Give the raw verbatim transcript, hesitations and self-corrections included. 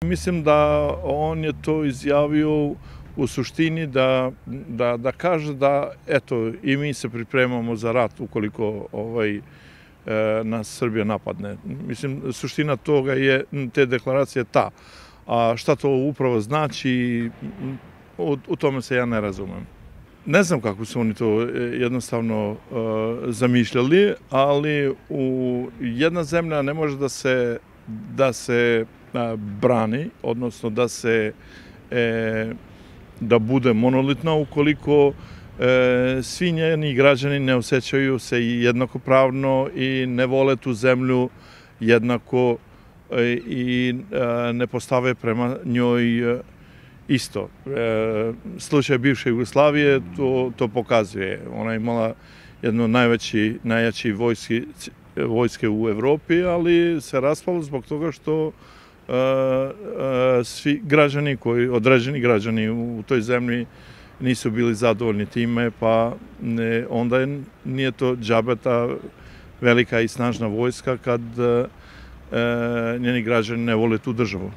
Mislim da on je to izjavio u suštini da, da, da kaže da eto i mi se pripremamo za rat ukoliko ovaj, e, nas Srbija napadne. Mislim, suština toga je, te deklaracije ta. A šta to upravo znači, u, u tome se ja ne razumem. Ne znam kako su oni to jednostavno uh, zamišljali, ali u jedna zemlja ne može da se, da se uh, brani, odnosno da se e, da bude monolitna ukoliko e, svi njeni građani ne osjećaju se jednakopravno i ne vole tu zemlju jednako e, i e, ne postave prema njoj e, isto. E, slučaj bivše Jugoslavije to, to pokazuje. Ona je imala jedno najveći, najjači vojski, vojske u Evropi, ali se raspalo zbog toga što e, e, svi građani, koji, određeni građani u toj zemlji nisu bili zadovoljni time, pa ne, onda je, nije to džabe ta velika i snažna vojska kad e, njeni građani ne vole tu državu.